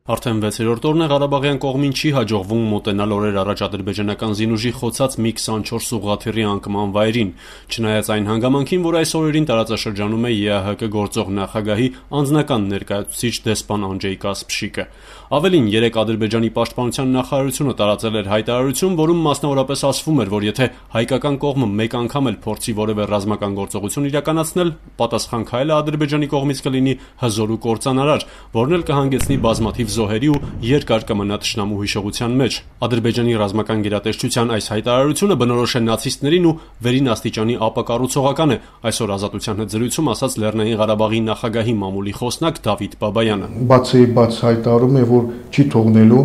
Արդեն 6-րդ օրն է Ղարաբաղյան կողմին չի հաջողվում մոտենալ օրեր առաջ ադրբեջանական զինուժի խոցած MiG-24 ուղղաթիռի անկման վայրին, չնայած այն հանգամանքին, որ այս օրերին տարածաշրջանում է ԵԱՀԿ գործող նախագահի անձնական ներկայացուցիչ դեսպան Անջեյ Կասպշիկը։ Ավելին, երեկ Ադրբեջանի պաշտպանության նախարարությունը տարածել էր հայտարարություն, որում մասնավորապես ասվում էր, որ եթե հայկական կողմը մեկ անգամ էլ փորձի որևէ ռազմական գործողություն իրականացնել, պատասխան քայլը Ադրբեջանի կողմից կլինի հզոր ու կործանարար, որն էլ կհանգեցնի բազմաթիվ զոհերի ու երկար կմնա թշնամու հիշողության մեջ։ Ադրբեջանի ռազմական գերատեսչության այս հայտարարությունը բնորոշ է նացիստներին ու վերին աստիճանի ապակառուցողական է, այսօր Ազատության հետ զրույցում ասաց Լեռնային Ղարաբաղի նախագահի մամուլի խոսնակ Դավիթ Բաբայանը։ Բաց հայտարարում է, որ չի թողնելու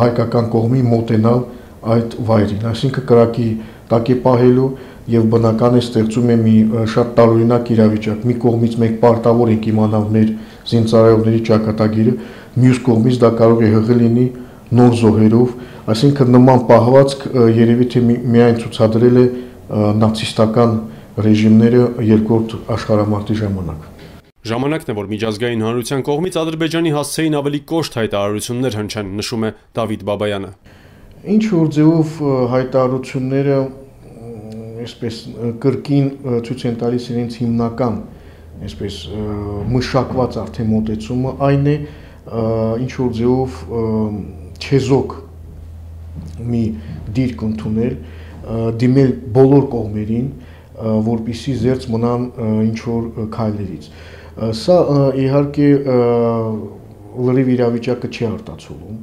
հայկական կողմի մոտենալ այդ վայրին, այսինքն կրակի տակ է պահելու եւ բնական է ստեղծում է մի շատ տարօրինակ իրավիճակ։ Մի կողմից մենք պարտավոր ենք իմանալ մեր զինծառայողների ճակատագիրը, մյուս կողմից դա կարող է հղի լինի նոր զոհերով, այսինքն նման պահվածք երևի թե միայն ցուցադրել է նացիստական ռեժիմները երկրորդ աշխարհամարտի ժամանակ։ Ժամանակն է, որ միջազգային հանրության կողմից Ադրբեջանի հասցեին ավելի կոշտ հայտարարություններ հնչեն, նշում է Դավիթ Բաբայանը։ Ինչ որ ձևով հայտարարությունները այսպես կրկին ցույց են տալիս իրենց հիմնական այսպես մշակված արդեն մոտեցումը, այն է ինչ որ ձևով չեզոք մի դիրք ընդունել, դիմել բոլոր կողմերին, որպեսզի զերծ մնան ինչ որ քայլերից։ Սա իհարկե լրիվ իրավիճակը չի արտացոլում,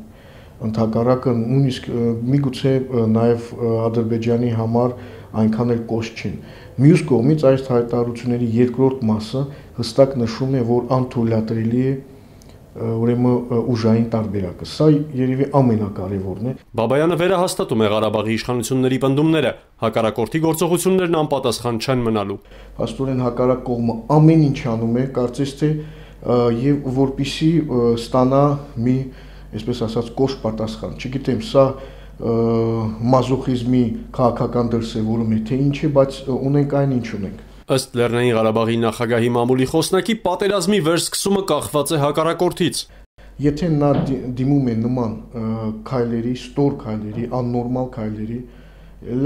ընդհակառակը նույնիսկ միգուցե նաև Ադրբեջանի համար այնքան էլ կոշտ չեն։ Մյուս կողմից այս հայտարարությունների երկրորդ մասը հստակ նշում է, որ անթույլատրելի է ուրեմն ուժային տարբերակը։ Սա երևի ամենակարևորն է։ Բաբայանը վերահաստատում է Ղարաբաղի իշխանությունների պնդումները, հակառակորդի գործողություններն անպատասխան չեն մնալու։ Փաստորեն հակառակ կողմը ամեն ինչ անում է, կարծես թե եւ որպիսի ստանա մի, այսպես ասած, կոշտ պատասխան։ Չգիտեմ, սա մազոխիզմի քաղաքական դրսևորում է, թե ինչ է, բայց ունենք այն ինչ ունենք։ Ըստ Լեռնային Ղարաբաղի նախագահի մամուլի խոսնակի, պատերազմի վերսկսումը կախված է հակառակորդից։ Եթե նա դիմում է նման քայլերի, ստոր քայլերի, աննորմալ քայլերի,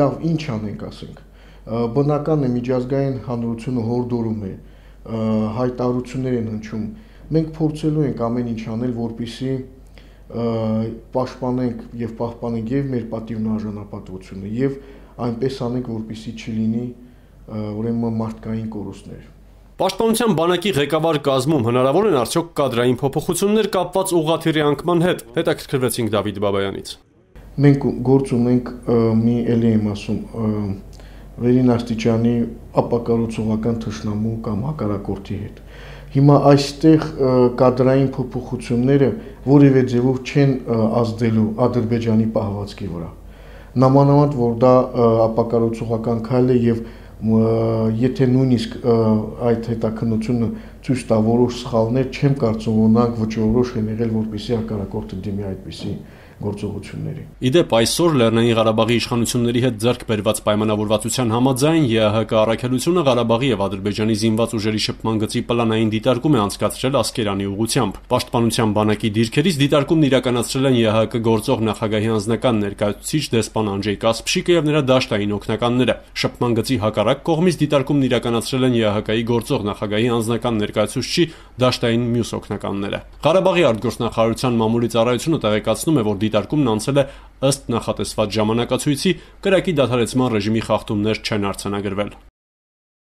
լավ, ինչ անենք, ասենք։ Բնական է միջազգային հանրությունը հորդորում է, հայտարարություններ են հնչում։ Մենք փորձելու ենք ամեն ինչ անել, որպեսզի պաշտպանենք եւ պահպանենք եւ մեր պատիվն արժանապատվությունը եւ այնպես անենք, որպեսզի չլինի ուրեմն մարդկային կորուստներ։ Պաշտպանության բանակի ղեկավար կազմում հնարավոր են արդյոք կադրային փոփոխություններ կապված ուղղաթիռի անկման հետ։ Հետաքրքրվեցինք Դավիթ Բաբայանից։ Մենք գործ ունենք մի էլի եմ ասում վերին աստիճանի ապակառուցողական թշնամու կամ հակառակորդի հետ։ Հիմա այստեղ կադրային փոփոխությունները որևէ ձևով չեն ազդելու Ադրբեջանի պահվածքի վրա։ Նամանավանդ որ դա ապակառուցողական քայլ է եւ եթե նույնիսկ այդ հետաքննությունը ցույց տա որոշ սխալներ, չեմ կարծում, որ նրանք վճռորոշ են եղել, որպեսզի հակառակորդը դիմի այդպիսի գործողությունների։ Իդեպ այսօր Լեռնային Ղարաբաղի իշխանությունների հետ ձեռք բերված պայմանավորվածության համաձայն ԵԱՀԿ առաքելությունը Ղարաբաղի եւ Ադրբեջանի զինված ուժերի շփման գծի պլանային դիտարկում է անցկացրել Ասկերանի ուղղությամբ։ Պաշտպանության բանակի դիրքերից դիտարկումն իրականացրել են ԵԱՀԿ գործող նախագահի անձնական ներկայացուցիչ դեսպան Անջեյ Կասպշիկը եւ նրա դաշտային օգնականները։ Շփման գծի հակառակ կողմից դիտարկումն իրականացրել են ԵԱՀԿ-ի գործող նախագահի անձնական ներկայացուցչի դաշտային մյուս օգնականները։ Ղարաբաղի արտգործնախարարության մամուլի ծառայությունը տեղեկացնում է, որ դիտարկումն անցել է ըստ նախատեսված ժամանակացույցի, կրակի դադարեցման ռեժիմի խախտումներ չեն արձանագրվել։